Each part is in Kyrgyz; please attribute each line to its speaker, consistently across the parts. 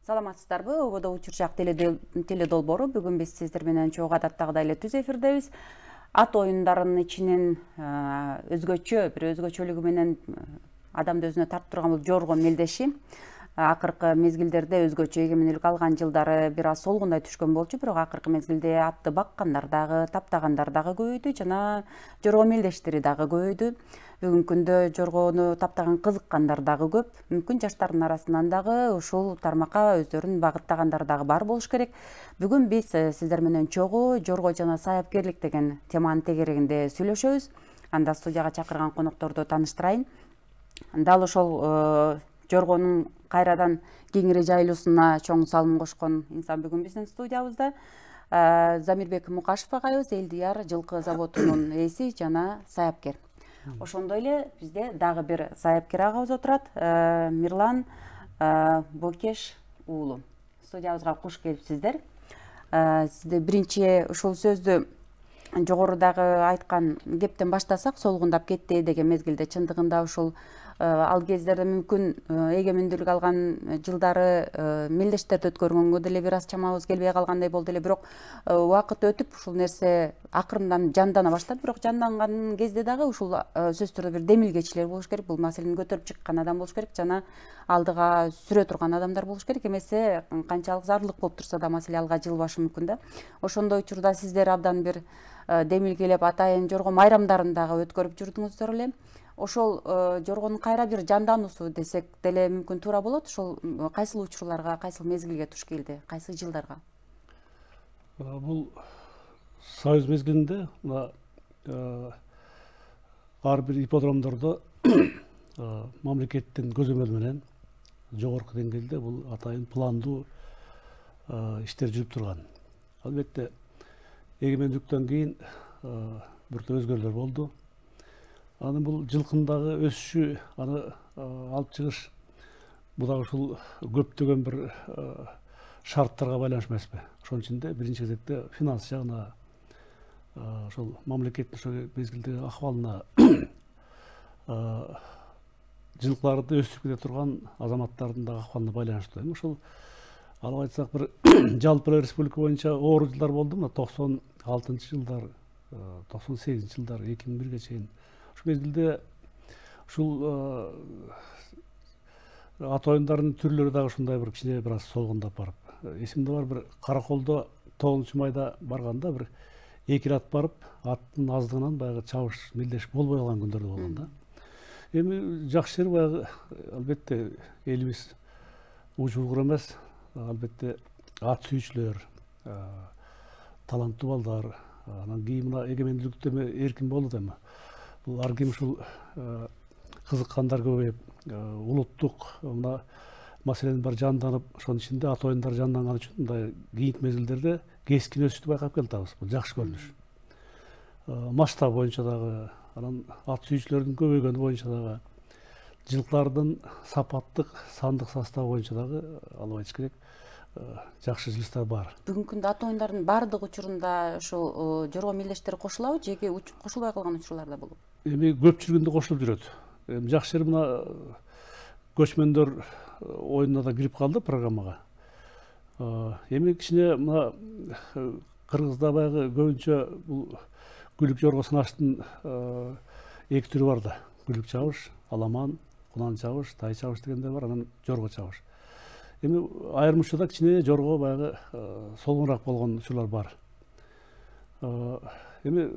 Speaker 1: Саламатсыздарбы? Ободо учурчак теледолбоору. Бүгүн биз сиздер менен чогуу адаттагыдай эле түз эфирдебиз. Ат оюндарынын ичинен өзгөчө, бир өзгөчөлүгү менен адамды өзүнө тартып турган бул жорго мелдеши. Акыркы мезгилдерде өзгөчө эгемендүүлүк алган жылдары бир аз солгундай түшкөн болчу, бирок акыркы мезгилде атты баккандар дагы, таптагандар дагы көбөйдү жана жорго мелдештери дагы көбөйдү. Бүгүнкү күндө жоргону таптаган кызыккандар дагы көп. Мүмкүн жаштардын арасынан дагы ушул тармакка өздөрүн багыттагандар дагы бар болуш керек. Бүгүн биз сиздер менен чогуу жорго жана саяпкерлик деген теманын тегерегинде сүйлөшөбүз. Анда студияга чакырган конокторду тааныштырайын. Дал ошол жоргонун кайрадан кеңири жайылуусуна чоң салым кошкон инсан бүгүн биздин студиябызда. Замирбек Мукашев агайыбыз Элдияр жылкы заводунун ээси жана саяпкер. Ошондой эле бизде дагы бир саяпкер агабыз отурат, Мирлан Бокеш уулу. Студиябызга куш келипсиздер. Сизде биринчи ушул сөздү жогорудагы айткан кептен баштасак, солгундап кетти деген мезгилде чындыгында ушул ал кездерде мүмкүн эгемендүүлүк алган жылдары мелдештерди өткөргөнгө деле бир аз чамабыз келбей калгандай болду эле, бирок убакыт өтүп ушул нерсе акырындан жандана баштады. Бирок жанданган кезде дагы ушул сөзсүз түрдө бир демилгечилер болуш керек, бул маселени көтөрүп чыккан адам болуш керек жана алдыга сүрө турган адамдар болуш керек. Эмесе канчалык зарылык болуп турса да маселе алга жылбашы мүмкүн да. Ошондой учурда сиздер абдан бир демилгелеп атайын жорго майрамдарын дагы өткөрүп жүрдүңүздөр эле. Ошол жоргонун кайра бир жандануусу десек деле мүмкүн туура болот. Ошол кайсыл учурларга, кайсыл мезгилге туш келди, кайсы жылдарга?
Speaker 2: Бул союз мезгилинде ар бир ипподромдордо мамлекеттин көзөмөлү менен жогорку деңгээлде бул атайын пландуу иштер жүрүп турган. Албетте эгемендүүлүктөн кийин бир өзгөрүүлөр болду. Аны бул жылкындагы өсүшү, аны алып чыгыш, бул дагы ушул көптөгөн бир шарттарга байланыш эмеспи? Ошонун ичинде биринчи кезекте финанс жагына, ошол мамлекеттин ошол мезгилдеги акыбалына, жылкыларды өстүрүп кете турган азаматтардын дагы акыбалына байланыштуу. Эми ошол алып айтсак бир жалпы республика боюнча оор жылдар болду, мына 96-жылдар, 98-жылдар, 2001-ге чейин. Ушул мезгилде ушул ат оюндарынын түрлөрү дагы ушундай бир кичине бир аз солгундап барып. Эсимде бар, бир Караколдо 9-майда барганда бир 2 рет барып, аттын аздыгынан баягы чабыш, мелдеш болбой калган күндөрдө болгон да. Эми жакшы жери баягы албетте элибиз учулгур эмес, албетте ат сүйүүчүлөр, таланттуу балдар, анан кийин мына эгемендүүлүктө эркин болду да эми. Бул ар ким ушул кызыккандар көбөйүп, улуттук мына маселенин баары жанданып, ошонун ичинде ат оюндары жанданган үчүн мындай кийинки мезгилдерде кескин өсүштү байкап келатабыз. Бул жакшы көрүнүш. Масштаб боюнча дагы, анан ат сүйүүчүлөрдүн көбөйгөнү боюнча дагы, жылкылардын сапаттык, сандык составы боюнча дагы алып айтыш керек, жакшы жылыштар бар.
Speaker 1: Бүгүнкү күндө ат оюндарынын баардык учурунда ушул жорго мелдештери кошулабы, жеке кошулбай калган учурлар да болобу?
Speaker 2: Эми көп жүргөндө кошулуп жүрөт. Эми жакшы жери мына көчмөндөр оюнуна да кирип калды программага. Эми кичине мына Кыргызда баягы көбүнчө бул күлүк жорго сынаштын 2 түрү бар да. Күлүк чабыш, аламан, кунан чабыш, тай чабыш дегендер бар, анан жорго чабыш. Эми айрым учурда кичине жорго баягы солгунураак болгон учурлар бар. Эми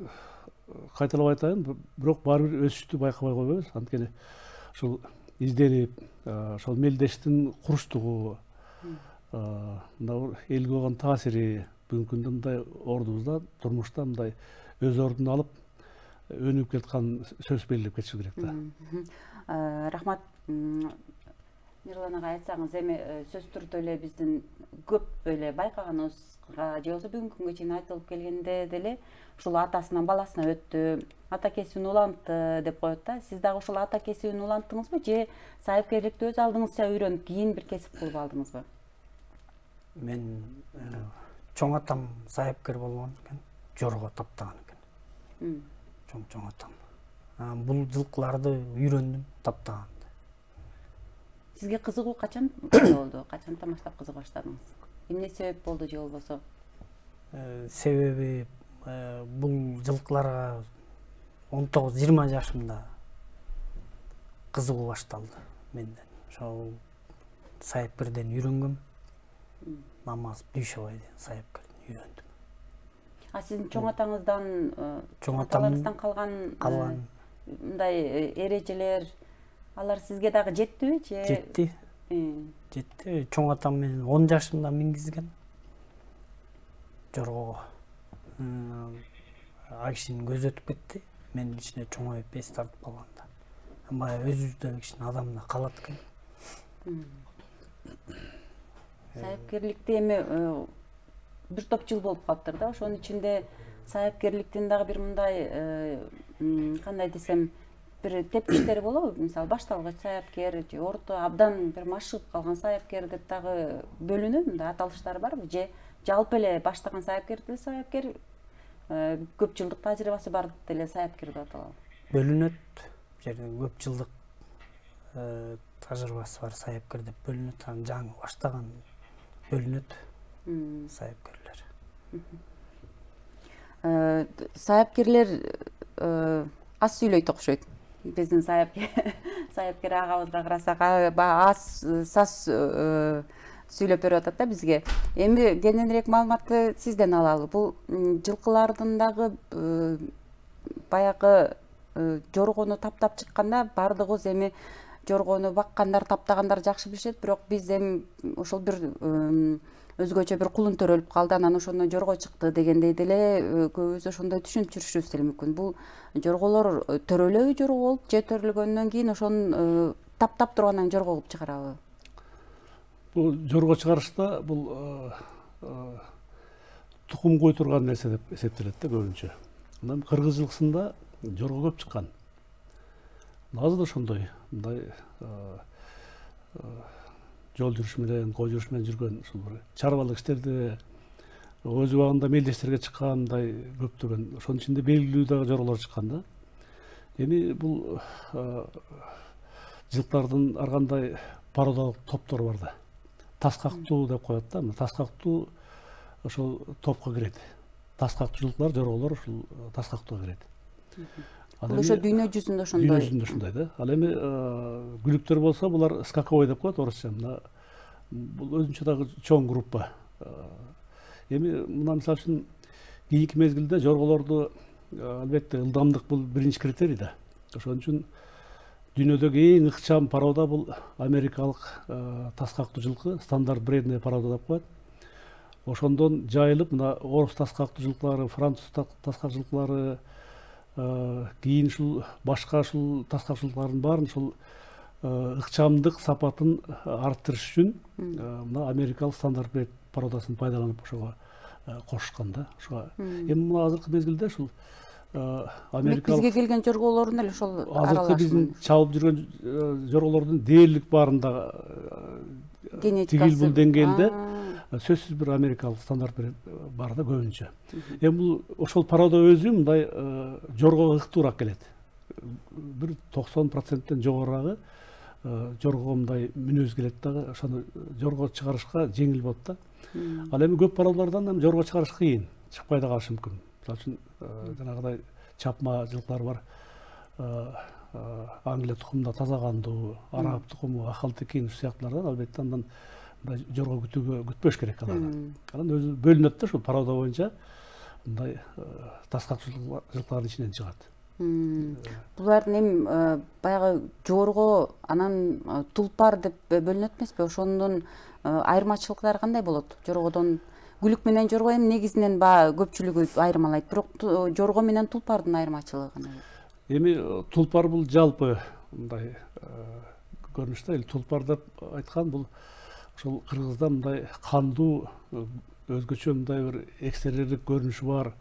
Speaker 2: кайталап айтайын, бирок баары бир өсүштү байкабай койбойбуз. Анткени ушул изденип, ошол мелдештин куруштугу, мына элге болгон таасири бүгүнкү күндө мындай ордубузда, турмушта мындай өз ордун алып, өнүгүп келаткан сөз белгилеп кетиши керек да.
Speaker 1: Рахмат. Мирлан ага айтсаңыз, эми сөз түрдө эле биздин көп эле байкаганыбызга же болбосо бүгүнкү күнгө чейин айтылып келгенде деле ушул атасынан баласына өттү, ата кесибин улантты деп коет да. Сиз дагы ушул ата кесибин уланттыңызбы же саяпкерликти өз алдыңызча үйрөнүп кийин бир кесип кылып алдыңызбы?
Speaker 3: Мен чоң атам саяпкер болгон экен, жорго таптаган экен. Чоң атам. Бул жылкыларды үйрөндүм таптаганды.
Speaker 1: Сизге кызыгуу качан болду? Качантан баштап кызыга баштадыңыз? Эмне себеп болду же болбосо?
Speaker 3: Себеби бул жылкыларга 19-20 жашымда кызыгуу башталды менден. Ошол сайыпкерден үйрөнгөм. Намаз Дүйшөбайден сайыпкерден үйрөндүм.
Speaker 1: А сиздин чоң атаңыздан,
Speaker 3: Чоң атамдан
Speaker 1: калган мындай эрежелер, алар сизге дагы жеттиби же?
Speaker 3: Жетти. Жетти. Чоң атам менен 10 жашымда мингизген. Жоргого. Ал кишинин көзү өтүп кетти. Мен ичине чоңоюп эс тартып калганда. Баягы өзүбүздөгү кишинин адамына калат экен.
Speaker 1: Сайыпкерликте эми бир топ жыл болуп калыптыр да. Ошонун ичинде сайыпкерликтин дагы бир мындай кандай десем, бир тепкичтери болобу? Мисалы, башталгыч сайыпкер же орто, абдан бир машыгып калган сайыпкер деп дагы бөлүнөбү? Мындай аталыштар барбы? Же жалпы эле баштаган сайыпкер деле сайыпкер, көп жылдык тажрыйбасы бар деле сайыпкер деп аталабы?
Speaker 3: Бөлүнөт. Көп жылдык тажрыйбасы бар сайыпкер деп бөлүнөт. Жаңы баштаган бөлүнөт сайыпкерлер.
Speaker 1: Сайыпкерлер аз сүйлөйт окшойт. Биздин сайыпкер агабызга карасак аз саз сүйлөп берип атат да бизге. Эми кененирээк маалыматты сизден алалы. Бул жылкылардын дагы баягы жоргону таптап чыкканда бардыгыбыз эми жоргону баккандар, таптагандар жакшы билишет, бирок биз эми ошол бир өзгөчө бир кулун төрөлүп калды, анан ошондон жорго чыкты дегендей деле көбүбүз ошондой түшүнүп жүрүшүбүз деле мүмкүн. Бул жорголор төрөлөбү жорго болуп, же төрөлгөндөн кийин ошону таптап туруп анан жорго кылып чыгарабы?
Speaker 2: Бул жорго чыгарышта бул тукум койдурган нерсе деп эсептелет да көбүнчө. Анан кыргыз жылкысында жорго көп чыккан. Азыр да ошондой, мындай жол жүрүш менен, кой жүрүш менен жүргөн ушул бир чарбалык иштерде өз убагында мелдештерге чыккан мындай көптөгөн, ошонун ичинде белгилүү дагы жорголор чыккан да. Эми бул жылктардын ар кандай пародалык топтору бар да. Тас кактуу деп коет да. Тас кактуу ошол топко кирет. Тас кактуу жылкылар, жорголор ушул тас кактууга кирет.
Speaker 1: Бул ошо дүйнө жүзүндө ошондой.
Speaker 2: Дүйнө жүзүндө ушундай да. Ал эми күлүктөр болсо булар скаковой деп коет орусча. Бул өзүнчө дагы чоң группа. Эми мына мисалы үчүн кийинки мезгилде жорголорду албетте ылдамдык бул биринчи критерий да. Ошон үчүн дүйнөдөгү эң ыкчам парода бул америкалык тас кактуу жылкы, стандарт бредная парода деп коет. Ошондон жайылып мына орус тас кактуу жылкылары, француз тас кактуу жылкылары, кийин ушул башка ушул тас кактуу жылкылардын баарын ушул ыкчамдык сапатын арттырыш үчүн мына америкалык стандарт бред пародасын пайдаланып ошого кошушкан да. Ошого эми мына азыркы мезгилде ушул америкалык
Speaker 1: бизге келген жорголордун эле ошол
Speaker 2: азыркы биздин чабып жүргөн жорголордун дээрлик баарында тигил бул деңгээлде сөзсүз бир америкалык стандарт бар да көбүнчө. Эми бул ошол парода өзү мындай жоргого ыктуураак келет. Бир 90%тен жогорурагы жоргого мындай мүнөз келет дагы, ошону жорго чыгарышка жеңил болот да. Ал эми көп пародалардан жорго чыгарыш кыйын, чыкпай да калышы мүмкүн. Мисалы үчүн жанагыдай чапма жылкылар бар. Англия тукумунда таза кандуу, араб тукуму, ахалтекин сыяктуулардан албетте андан жорго күтпөш керек алардан. Анан өзү бөлүнөт да ушул парода боюнча мындай тас кактуу жылкылардын ичинен чыгат.
Speaker 1: Булардын эми баягы жорго анан тулпар деп бөлүнөт эмеспи? Ошондун айырмачылыктары кандай болот? Жоргодон күлүк менен жорго эми негизинен көпчүлүгү айырмалайт, бирок жорго менен тулпардын айырмачылыгы кандай болот?
Speaker 2: Эми тулпар бул жалпы мындай көрүнүштө тулпар деп айткан бул ошол кыргызда мындай кандуу өзгөчө мындай бир экстерьердик көрүнүшү бар.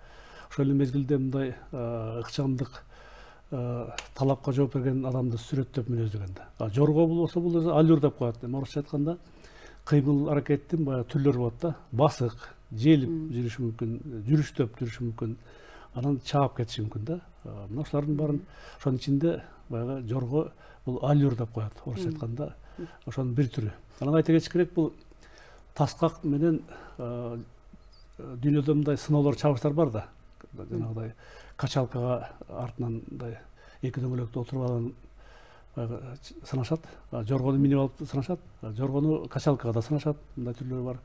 Speaker 2: Ошол эле мезгилде мындай ыкчамдык талапка жооп берген адамды сүрөттөп мүнөздөгөн да. Жорго болсо бул аллюр деп коет. Орусча айтканда кыймыл аракеттин баягы түрлөрү болот да. Басык, желип жүрүшү мүмкүн, жүрүштөп жүрүшү мүмкүн, анан чаап кетиши мүмкүн да. Мына ушулардын баарын ошонун ичинде баягы жорго бул аллюр деп коет. Орусча айтканда ошонун бир түрү. Анан айта кетиш керек, бул таскак менен дүйнөдө мындай сыноолор, чабыштар бар да. Жанагыдай качалкага артынан мындай эки дөңгөлөктө отуруп алган сынашат, жоргону минип алып сынашат, жоргону качалкага да сынашат, мындай түрлөрү бар.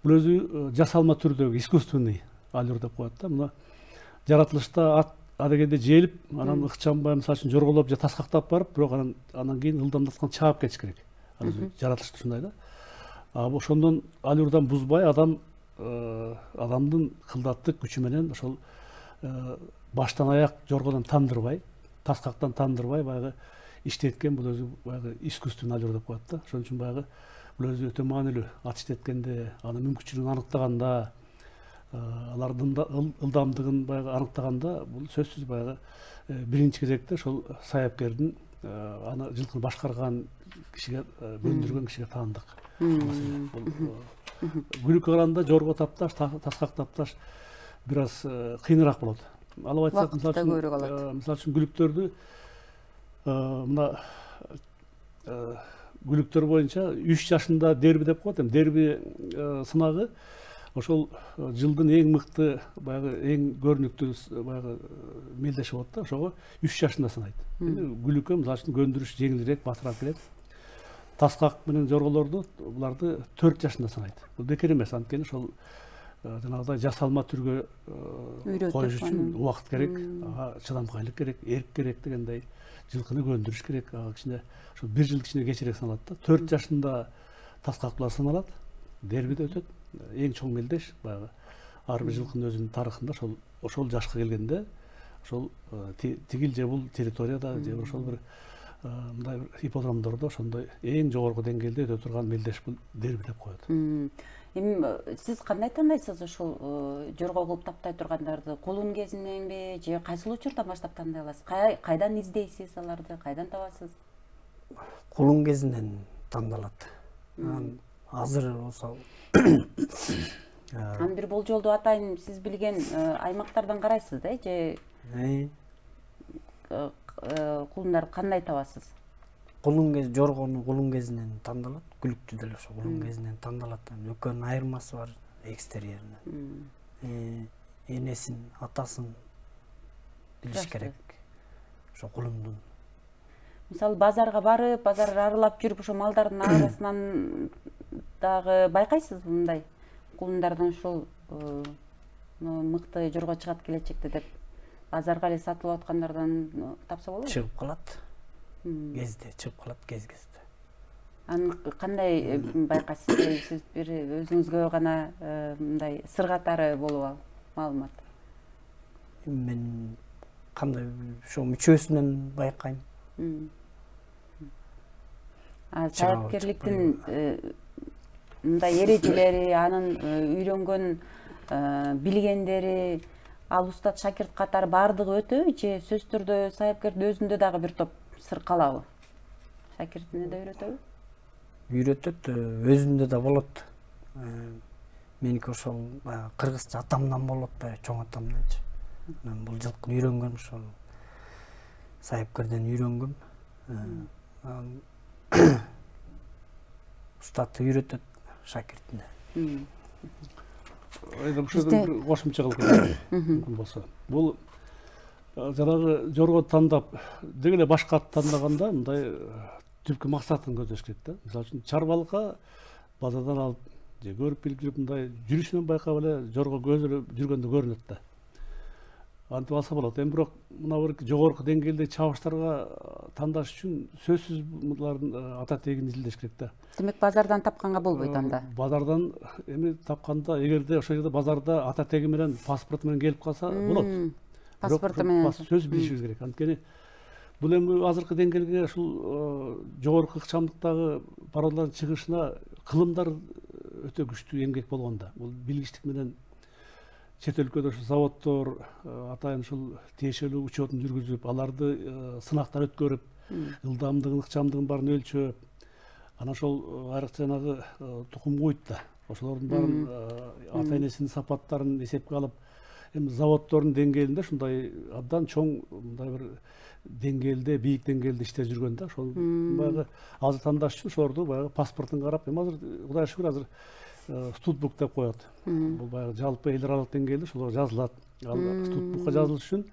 Speaker 2: Бул өзү жасалма түрдөгү искусственный алюр деп коет да. Мына жаратылышта ат адегенде жээлип, анан ыкчамбай мисалы үчүн жорголоп же таскактап барып, бирок анан кийин ылдамдаткан чаап кетиш керек. Жаратылышта ушундай да. Ошондон алюрдан бузбай адамдын кылдаттык күчү менен ошол баштан аяк жоргодон тандырбай, таскактан тандырбай баягы иштеткен, бул өзү баягы искусственный алюр деп коет да. Ошон үчүн баягы бул өзү өтө маанилүү. Ат иштеткенде, анын мүмкүнчүлүгүн аныктаганда, алардын ылдамдыгын баягы аныктаганда, бул сөзсүз баягы биринчи кезекте ошол саяпкердин аны жылкыны башкарган кишиге, көндүргөн кишиге таандык. Күлүккө караганда жорго тапташ, таскак тапташ бир аз кыйыныраак болот. Алып айтсак, мисалы үчүн күлүктөрдү мына күлүктөр боюнча 3 жашында дерби деп коет. Дерби сынагы ошол жылдын эң мыкты, баягы эң көрүнүктүү баягы мелдеши болот да. Ошого 3 жашында сынайт. Күлүккө мисалы үчүн көндүрүш жеңилирээк, батыраак келет. Таскак менен жорголорду буларды 4 жашында сынайт. Бул бекер эмес, анткени ошол жанагыдай жасалма түргө коюш үчүн убакыт керек, чыдамкайлык керек, эрк керек дегендей, жылкыны көндүрүш керек. Кичине ошол 1 жыл кичине кечирээк саналат да. 4 жашында таскактуулар сыналат, дербиде өтөт. Эң чоң мелдеш баягы ар бир жылкынын өзүнүн тарыхында ошол жашка келгенде ошол тигил же бул территорияда же ошол бир мындай ипподромдордо ошондой эң жогорку деңгээлде өтө турган мелдеш бул дерби деп коет.
Speaker 1: Эми сиз кандай тандайсыз ошол жорго кылып таптай тургандарды? Кулун кезиненби же кайсыл учурдан баштап тандай аласыз? Кайдан издейсиз аларды? Кайдан табасыз?
Speaker 3: Кулун кезинен тандалат. Азыр болсо
Speaker 1: анын бир болжолду атайын, сиз билген аймактардан карайсыз да, же кулундарды кандай табасыз?
Speaker 3: Жоргону кулун кезинен тандалат, күлүктү деле ошо кулун кезинен тандалат. Экөөнүн айырмасы бар экстерьеринен. Энесин, атасын билиш керек. Ошо кулундун.
Speaker 1: Мисалы базарга барып, базар аралап жүрүп, ошо малдардын арасынан дагы байкайсыз мындай кулундардан ушул мыкты жорго чыгат келечекте деп базарга эле сатылып аткандардан тапса болобу?
Speaker 3: Чыгып калат. Кезде чыгып калат, кезде.
Speaker 1: Аны кандай байкайсыз? Сиз бир өзүңүзгө гана мындай сыр катары болуп маалымат.
Speaker 3: Мен кандай ошо мүчөсүнөн байкайм.
Speaker 1: Саяпкерликтин мындай эрежелери, анын үйрөнгөн билгендери, ал устат шакирт катары баардыгы өтөбү же сөзсүз түрдө саяпкердин өзүндө дагы бир топ сыр калабы? Шакиртине да үйрөтөбү?
Speaker 3: Үйрөтөт, өзүндө да болот. Меники ошол кыргызча атамдан болот, чоң атамданчы. Мен бул жылкыны үйрөнгөм, ошол саяпкерден үйрөнгөм. Устатты үйрөтөт шакиртине.
Speaker 2: Ушудан бир кошумча кылып кетейин мүмкүн болсо. Бул жанагы жорго тандап, деги эле башка ат тандаганда мындай түпкү максатын көздөш керек да. Мисалы үчүн чарбалыкка базардан алып же көрүп билип жүрүп мындай жүрүшүнөн байкап эле жорго көзү жүргөндө көрүнөт да. Антип алса болот. Эми бирок мына бир жогорку деңгээлде чабыштарга тандаш үчүн сөзсүз булардын ата тегин изилдеш керек да.
Speaker 1: Демек базардан тапканга болбойт анда.
Speaker 2: Базардан эми тапканда, эгерде ошол жерде базарда ата теги менен, паспорту менен келип калса болот.
Speaker 1: Паспорту менен
Speaker 2: сөз билишибиз керек. Анткени бул эми азыркы деңгээлге ушул жогорку ыкчамдыктагы пародалардын чыгышына кылымдар өтө күчтүү эмгек болгон да. Бул билгичтик менен чет өлкөдө ушул заводдор атайын ушул тиешелүү учетун жүргүзүп, аларды сынактан өткөрүп, ылдамдыгын, ыкчамдыгын баарын өлчөп, анан ошол айрыкча жанагы тукум куйт да. Ошолордун баарын ата энесинин сапаттарын эсепке алып, эми заводдордун деңгээлинде ушундай абдан чоң мындай бир деңгээлде, бийик деңгээлде иштеп жүргөн да. Ошол баягы азыр тандаш үчүн ошорду баягы паспортун карап, эми азыр Кудайга шүгүр азыр студбук деп коет. Бул баягы жалпы эл аралык деңгээлде ошол жазылат. Ал студбукка жазылыш үчүн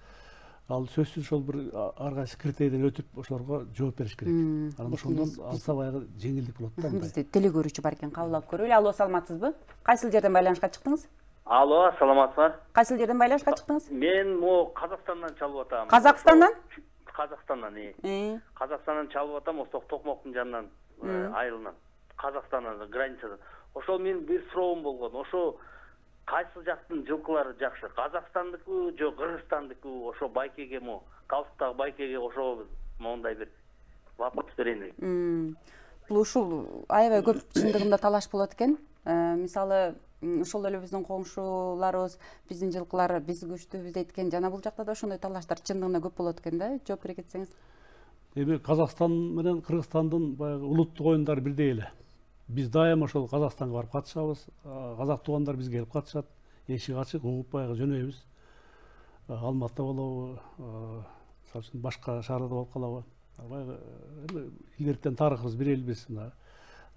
Speaker 2: ал сөзсүз ошол бир ар кайсы критерийден өтүп ошолорго жооп бериш керек. Анан ошондон алса баягы жеңилдик болот да.
Speaker 1: Бизде телегөрүүчү бар экен, кабыл алып көрөлү. Алло, саламатсызбы? Кайсыл жерден байланышка чыктыңыз?
Speaker 4: Алло, саламатсызбы?
Speaker 1: Кайсыл жерден байланышка чыктыңыз?
Speaker 4: Мен могу Казакстандан чалып атам.
Speaker 1: Казакстандан?
Speaker 4: Казакстандан, Казакстандан чалып атам, ошол Токмоктун жанынан, айылынан. Казакстандан, границадан. Ошол менин бир суроом болгон. Ошо кайсы жактын жылкылары жакшы? Казакстандыкы же Кыргызстандыкы? Ошо байкеге мо, Калстыктагы байкеге ошо мондай бир вопрос берейин.
Speaker 1: Бул ушул аябай көп чындыгында талаш болот экен. Мисалы, ошол эле биздин коңшуларыбыз, биздин жылкылар биз күчтүүбүз дейт экен. Жана бул жакта да ошондой талаштар чындыгында көп болот экен да. Жооп бере кетсеңиз.
Speaker 2: Эми Казакстан менен Кыргызстандын баягы улуттук оюндары бирдей эле. Биз дайыма ошол Казакстанга барып катышабыз. Казак туугандар бизге келип катышат. Эшик ачык, угуп баягы жөнөйбүз. Алматыда болобу, мисалы үчүн башка шаарларда болуп калабы. Баягы илгертен тарыхыбыз бир элбиз, мына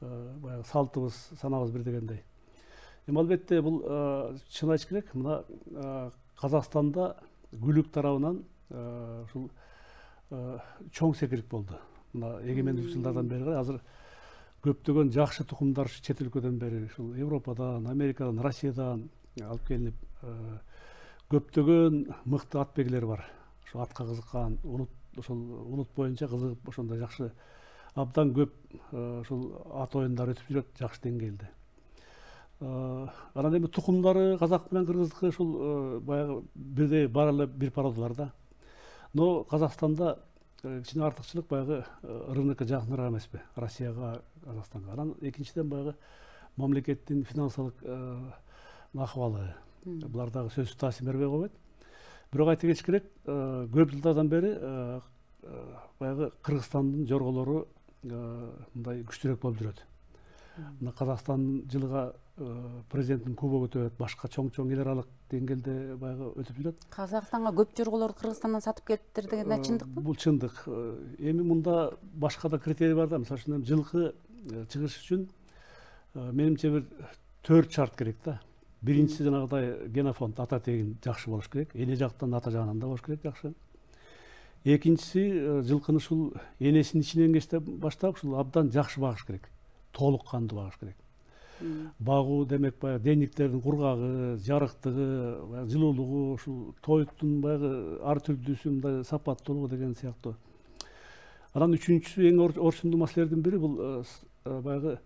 Speaker 2: баягы салтыбыз, санабыз бир дегендей. Эми албетте бул чын айтыш керек, мына Казакстанда Гүлүк тарабынан ушул чоң секирип болду. Мына эгемендик жылдардан бери азыр көптөгөн жакшы тукумдар чет өлкөдөн бери ушул Европадан, Америкадан, Россиядан алып келинип, көптөгөн мыкты атбегилер бар. Ошо атка кызыккан, ошол улут боюнча кызыгып ошондой жакшы абдан көп ушул ат оюндары өтүп жүрөт жакшы деңгээлде. Анан эми тукумдары казак менен кыргыздыкы ушул баягы бирдей бар эле бир породалар да. Но Казакстанда кичине артыкчылык баягы рынокко жакыныраак эмеспи, Россияга, Казакстанга. Анан экинчиден баягы мамлекеттин финансылык акыбалы. Булар дагы сөзсүз таасир бербей койбойт. Бирок айта кетиш керек, көп жылдардан бери баягы Кыргызстандын жорголору мындай күчтүүрөөк болуп жүрөт. Мына Казакстандын жылга президенттин кубогу өтөт, башка чоң эл аралык деңгээлде баягы өтүп жүрөт.
Speaker 1: Казакстанга көп жорголорду Кыргызстандан сатып келиптир деген чындыкпы?
Speaker 2: Бул чындык. Эми мында башка да критерий бар да. Мисалы үчүн жылкы чыгыш үчүн менимче бир 4 шарт керек да. Биринчиси жанагыдай генофонд, ата тегин жакшы болуш керек. Эне жактан, ата жагынан да болуш керек жакшы. Экинчиси жылкыны ушул энесинин ичинен баштап ушул абдан жакшы багыш керек. Толук кандуу багыш керек. Багуу демек баягы дениктердин кургагы, жарыктыгы, жылуулугу, ушул тоюттун баягы ар түрдүүсү мындай сапаттуулугу деген сыяктуу. Анан үчүнчүсү эң орчундуу маселелердин бири бул баягы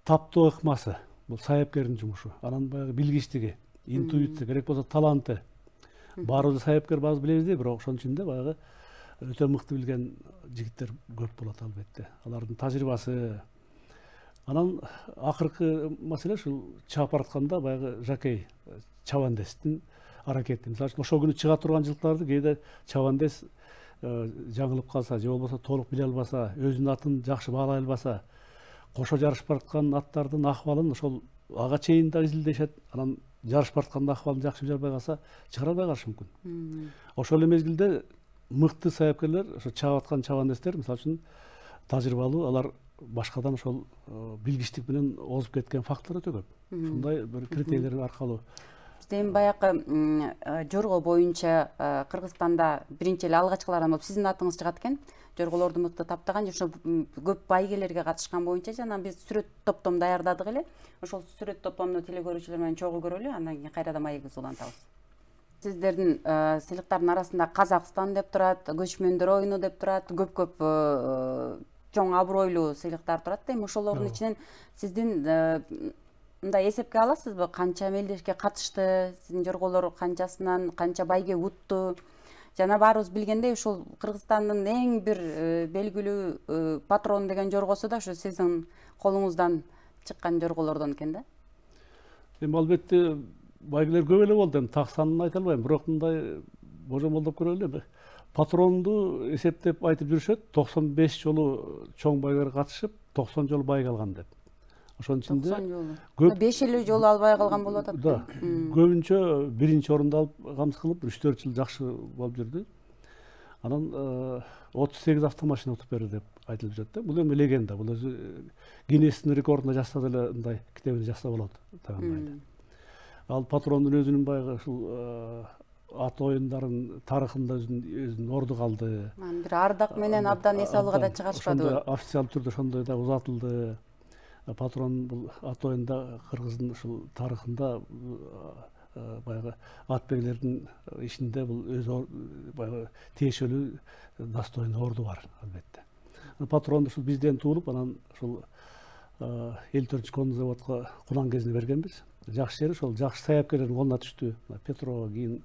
Speaker 2: таптоо ыкмасы. Бул сайапкердин жумушу. Анан баягы билгичтиги, интуиция, керек болсо таланты. Баарыбыз сайапкер баары билебиз да, бирок ошонун ичинде баягы өтө мыкты билген жигиттер көп болот албетте. Алардын тажрыйбасы. Анан акыркы маселе ушул чаап баратканда баягы жакей, чабандестин аракети. Мисалы үчүн ошол күнү чыга турган жылкыларды кээде чабандес жаңылып калса, же болбосо толук биле албаса, өзүнүн атын жакшы баалай албаса, кошо жарышып бараткан аттардын акыбалын ошол ага чейин да изилдешет. Анан жарышып бараткан акыбалын жакшы биле албай калса, чыгара албай калышы мүмкүн. Ошол эле мезгилде мыкты сайапкерлер, ошо чаап аткан чабандестер, мисалы үчүн тажрыйбалуу, алар башкадан ошол билгичтик менен озуп кеткен факторлор өтө көп. Ушундай бир критерийлер аркылуу.
Speaker 1: Бизде эми баягы жорго боюнча Кыргызстанда биринчи эле алгачкылардан болуп сиздин атыңыз чыгат экен. Жорголорду мыкты таптаган, ошо көп байгелерге катышкан боюнча жана биз сүрөт топтом даярдадык эле. Ошол сүрөт топтомду телегөрүүчүлөр менен чогуу көрөлү, андан кийин кайрадан маегибизди улантабыз. Сиздердин сыйлыктардын арасында Казакстан деп турат, көчмөндөр оюну деп турат, көп чоң абройлуу сыйлыктар турат да. Эми ошолордун ичинен сиздин мындай эсепке аласызбы, канча мелдешке катышты, сиздин жорголор канчасынан канча байге утту? Жана баарыбыз билгендей, ушул Кыргызстандын эң бир белгилүү патрон деген жоргосу да ошо сиздин колуңуздан чыккан жорголордон экен да.
Speaker 2: Эми албетте байгелер көп эле болду, эми так санын айта албайм, бирок мындай божомолдоп көрөлү. Патронду эсептеп айтып жүрүшөт, 95 жолу чоң байлар катышып, 90 жолу байга алган деп. Ошонун ичинде
Speaker 1: 90 жолу. 5 жолу албай калган болуп атат.
Speaker 2: Да. Көбүнчө биринчи орунду алып камсыз кылып, 3-4 жыл жакшы болуп жүрдү. Анан 38 автомашина утуп берди деп айтылып жүрөт да. Бул эми легенда. Бул өзү Гиннестин рекордуна жазса деле мындай китебине жазса болот тагынбайды. Ал патрондун өзүнүн баягы ушул ат оюндарын тарыхында өзүнүн орду калды.
Speaker 1: Бир ардак менен абдан эс алууга да чыгарышпадыбы?
Speaker 2: Официалдуу түрдө ошондой да узатылды. Патрон бул ат оюнда кыргыздын ушул тарыхында баягы ат бейлердин ичинде бул өзү баягы тиешелүү достойный орду бар албетте. Патрон ушул бизден туулуп, анан ушул 54 конный заводко кулан кезинде бергенбиз. Жакшы жери ошол жакшы саяпкерлердин колуна түштү. Петро, кийин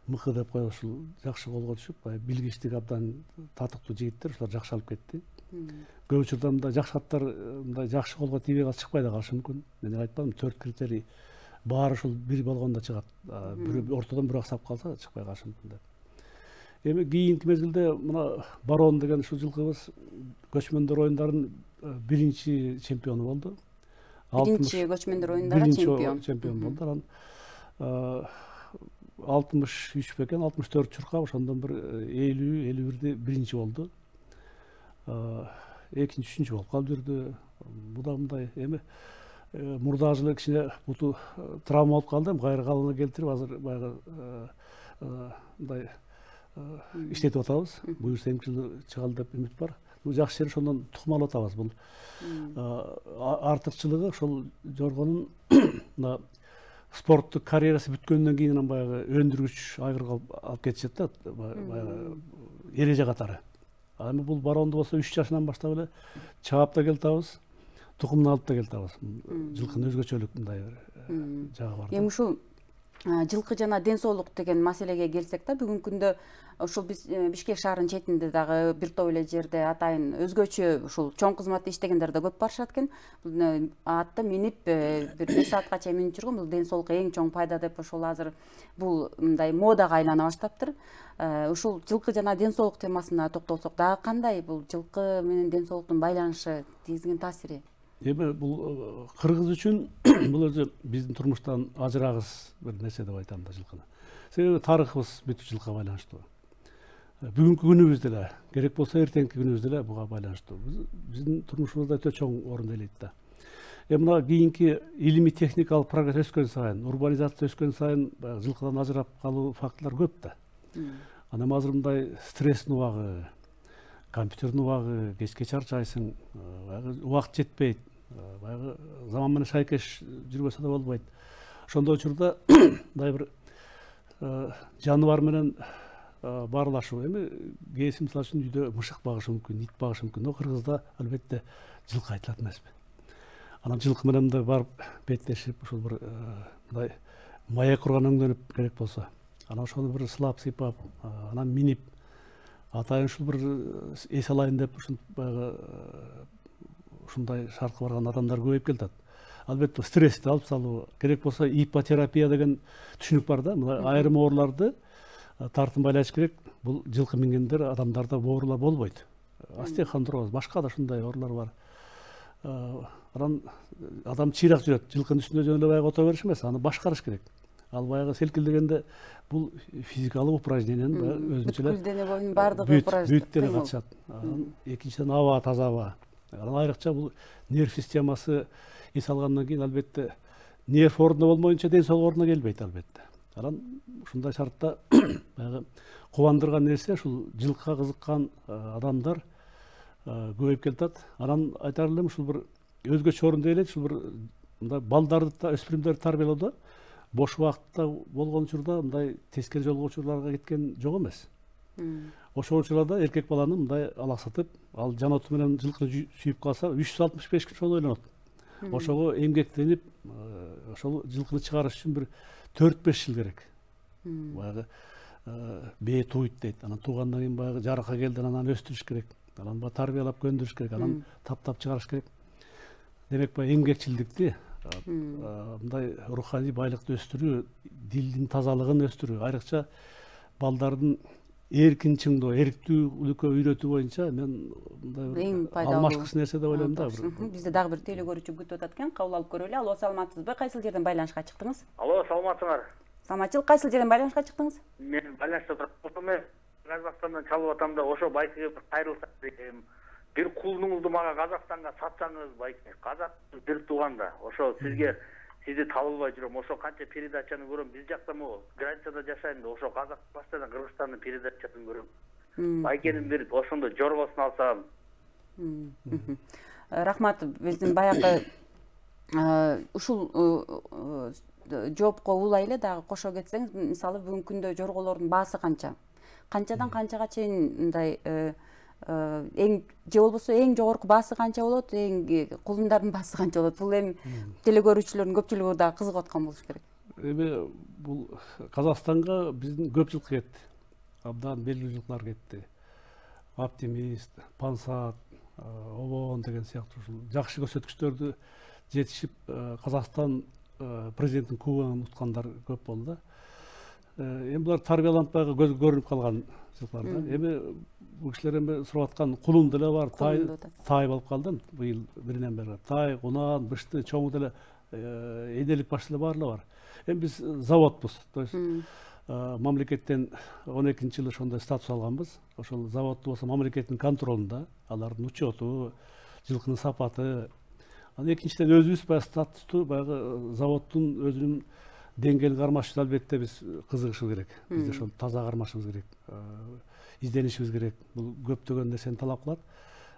Speaker 2: Мыкы деп коюп ушул жакшы колго түшүп, билгичтик абдан татыктуу жигиттер, ушулар жакшы алып кетти. Көп учурда мындай жакшы аттар мындай жакшы колго тийбей калса чыкпай да калышы мүмкүн. Мен айтпадым, 4 критерий баары ушул бир болгондо чыгат. Бирөө ортодон бирок сап калса чыкпай калышы мүмкүн деп. Эми кийинки мезгилде мына Барон деген ушул жылкыбыз көчмөндөр оюндарынын биринчи чемпиону болду.
Speaker 1: Биринчи көчмөндөр оюндары
Speaker 2: чемпион болду. Анан 63 бекен, 64 чуркап, ошондон бир 50-51де биринчи болду. Экинчи, үчүнчү болуп калып жүрдү. Бу да мындай эми мурдагы жылы кичине буту травма болуп калды, кайра калыбына келтирип азыр баягы мындай иштетип атабыз. Буюрса эмки жылы чыгалы деп үмүт бар. Бул жакшы жери ошондон тукум алып атабыз. Бул артыкчылыгы ошол жоргонун мына спорттук карьерасы бүткөндөн кийин анан баягы өндүргүч айгырга алып кетишет да, баягы эреже катары. Эми бул Баронду болсо 3 жашынан баштап эле чаап да келтабыз, тукумун алып да келтабыз. Жылкынын өзгөчөлүк мындай бир жагы бар.
Speaker 1: Эми ушул жылкы жана ден соолук деген маселеге келсек да, бүгүнкү күндө ушул биз Бишкек шаарынын четинде дагы бир топ эле жерде атайын өзгөчө ушул чоң кызматта иштегендер да көп барышат экен. Атты минип бир 5 саатка чейин минип жүргөн, бул ден соолукка эң чоң пайда деп ошол азыр бул мындай модага айлана баштаптыр. Ушул жылкы жана ден соолук темасына токтолсок дагы кандай бул жылкы менен ден соолуктун байланышы, тийгизген таасири?
Speaker 2: Эми бул кыргыз үчүн бул өзү биздин турмуштан ажырагыс бир нерсе деп айтам да жылкыны. Себеби тарыхыбыз бүт жылкыга байланыштуу. Бүгүнкү күнүбүз деле, керек болсо эртеңки күнүбүз деле буга байланыштуу. Биздин турмушубузда өтө чоң орун ээлейт да. Мына кийинки илимий техникалык прогресс өскөн сайын, урбанизация өскөн сайын жылкыдан ажырап калуу фактылар көп да. Анан азыр мындай стресстин убагы, компьютердин убагы, кечке чарчайсың, убакыт жетпейт, баягы заман менен шайкеш жүрбөсө да болбойт. Ошондой учурда мындай бир жаныбар менен баарлашуу. Эми кээси мисалы үчүн үйдө мышык багышы мүмкүн, ит багышы мүмкүн. Но Кыргызда албетте жылкы айтылат эмеспи. Анан жылкы менен мындай барып беттешип, ушул бир мындай маек курган өңдөнүп керек болсо, анан ошону бир сылап сыйпап, анан минип, атайын ушул бир эс алайын деп баягы ушундай шартка барган адамдар көбөйүп келатат. Албетте стрессти алып салуу, керек болсо ипотерапия деген түшүнүк бар да. Мына айрым ооруларды тартынбайлаш керек. Бул жылкы мингендер адамдарда оорулар болбойт. Остеохондроз, башка да ушундай оорулар бар. Анан адам чыйрак жүрөт. Жылкынын үстүндө жөн эле баягы ото бериш эмес, аны башкарыш керек. Ал баягы селкилдегенде бул физикалык упражнениянын өзүнчө эле
Speaker 1: дене боюнун баардыгы упражнение
Speaker 2: бүт деле катышат. Экинчиден аба, таза аба. Анан айрыкча бул нерв системасы эс алгандан кийин албетте нерв ордуна болмоюнча ден соолук ордуна келбейт албетте. Анан ушундай шартта баягы кубандырган нерсе ушул жылкыга кызыккан адамдар көбөйүп келатат. Анан айтар элем ушул бир өзгөчө орун ээлейт, ушул бир мындай балдарды да, өспүрүмдөрдү тарбиялоодо бош убакытта болгон учурда мындай тескери жолго учурларга кеткен жок эмес. Ошол учурларда эркек баланы мындай алаксатып, ал жан оту менен жылкыны сүйүп калса 365 күн ошону ойлонот. Ошого эмгектенип, ошол жылкыны чыгарыш үчүн бир 4-5 жыл керек. Баягы бээ тууйт дейт. Анан туугандан кийин баягы жарыкка келди, анан өстүрүш керек. Анан тарбиялап көндүрүш керек, анан таптап чыгарыш керек. Демек баягы эмгекчилдикти, мындай руханий байлыкты өстүрүү, дилдин тазалыгын өстүрүү, айрыкча балдардын эркин чыңдоо, эриктүүлүккө үйрөтүү боюнча мен мындай алмашкыс нерсе деп ойлойм да.
Speaker 1: Бизде дагы бир теле көрүүчү күтүп атат экен, кабыл алып көрөлү. Алло, саламатсызбы? Кайсыл жерден байланышка чыктыңыз?
Speaker 4: Алло, саламатсыңар.
Speaker 1: Саламатчылык, кайсыл жерден байланышка чыктыңыз?
Speaker 4: Мен байланышта турам. Казакстандан чалып атам да ошо байкеге бир кайрылсак дегем. Бир кулуңузду мага Казакстанга сатсаңыз, байке. Казак бир тууганда. Ошо сизди табылбай жүрөм. Ошо канча передачаны көрөм. Биз жакта могу границада жашайм да, ошо Казак постоянно Кыргызстандын передачасын көрөм. Байкенин бир ошондо жоргосун алсам.
Speaker 1: Рахмат, биздин баягы ушул жоопко улай эле дагы кошо кетсеңиз, мисалы бүгүнкү күндө жорголордун баасы канча? Канчадан канчага чейин мындай эң же болбосо эң жогорку баасы канча болот, эң кулундардын баасы канча болот? Бул эми теле көрүүчүлөрдүн көпчүлүгү дагы кызыгып аткан болуш керек.
Speaker 2: Эми бул Казакстанга биздин көп жылкы кетти. Абдан белгилүү жылкылар кетти. Оптимист, Пансат, Обон деген сыяктуу ушул жакшы көрсөткүчтөрдү жетишип Казакстан президенттин кубогун уткандар көп болду да. Эми булар тарбияланып баягы көзгө көрүнүп калган жылкылар да. Эми бул кишилер эми сурап аткан кулун деле бар, тай болуп калды быйыл биринен бери. Тай, Унан, Бышты, чоң деле энелик баш деле баарлары бар. Эми биз заводбуз. То есть мамлекеттен 12-жылы ошондой статус алганбыз. Ошол заводду болсо мамлекеттин контролунда, алардын учету, жылкынын сапаты. Анан экинчиден өзүбүз баягы статусту баягы заводдун өзүнүн деңгээлин кармаш үчүн албетте биз кызыгышыбыз керек. Биз ошол таза кармашыбыз керек. Изденишибиз керек. Бул көптөгөн нерсени талап кылат.